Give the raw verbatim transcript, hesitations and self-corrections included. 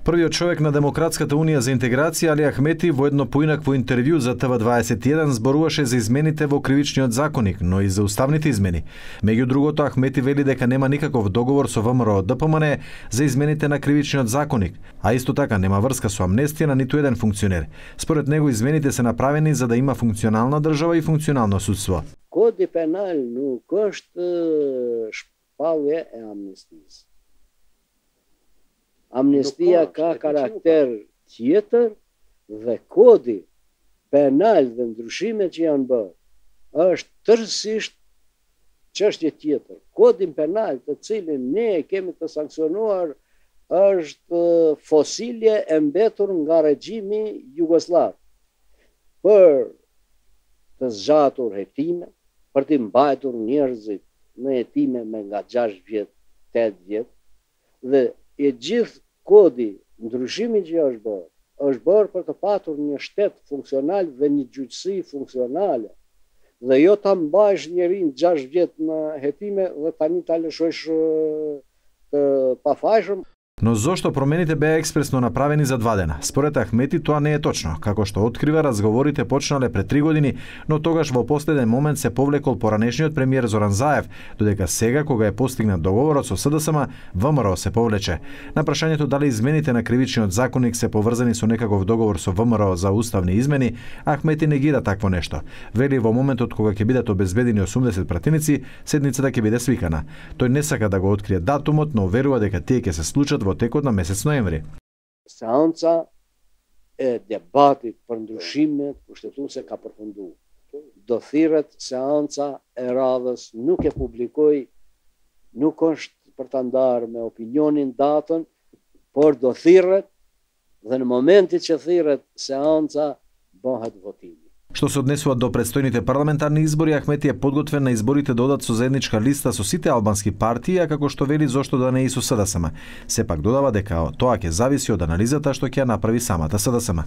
Првиот човек на Демократската унија за интеграција Али Ахмети во едно поинакво интервју за Т В дваесет и еден зборуваше за измените во кривичниот законник, но и за уставните измени. Меѓу другото, Ахмети вели дека нема никаков договор со В М Р О Д П М Н за измените на кривичниот законник, а исто така нема врска со амнестија на ниту еден функционер. Според него измените се направени за да има функционална држава и функционално судство. Коди пенал nuk është shpallje e amnestisë. Amnestia ka karakter tjetër dhe kodi penal dhe ndryshimet që janë bërë është tërësisht çështje tjetër. Kodin penal të cilin ne kemi të sankcionuar është fosilje e mbetur nga regjimi jugosllav për të zgjatur hetime, për të mbajtur njerëzit në hetime me nga gjashtë vjet, tetë vjet, dhe e gjithë kodi ndryshimi që është bërë, është bërë për të patur një shtet funksional dhe një gjyqësi funksionale. Dhe jo ta mbajsh njerin gjashtë vjet në hetime dhe tani ta lëshojsh të pafajshëm. Но зошто промените беа експресно направени за два дена? Според Ахмети тоа не е точно, како што открива разговорите почнале пред три години, но тогаш во последен момент се повлекол поранешниот премиер Зоран Заев, додека сега кога е постигнат договорот со С Д С М, В М Р О се повлече. На прашањето дали измените на кривичниот законник се поврзани со некаков договор со В М Р О за уставни измени, Ахмети негира такво нешто. Вели во моментот кога ќе бидат обезбедени осумдесет пратеници, седницата ќе биде свикана. Тој не сака да го открие датумот, но верува дека тие ќе се случат во текот на месец ноември. Seanca e debatit për ndryshimet kushtetuese ka përfunduar. Do thirret seanca e radhës, nuk e publikoj, nuk është për ta ndarë me opinionin datën, por do thirret dhe në momentin që thirret seanca bëhet votimi. Што се однесува до предстојните парламентарни избори, Ахмети е подготвен на изборите да одат со заедничка листа со сите албански партии, а како што вели зошто да не и со С Д С М. Сепак додава дека тоа ќе зависи од анализата што ќе ја направи самата С Д С М.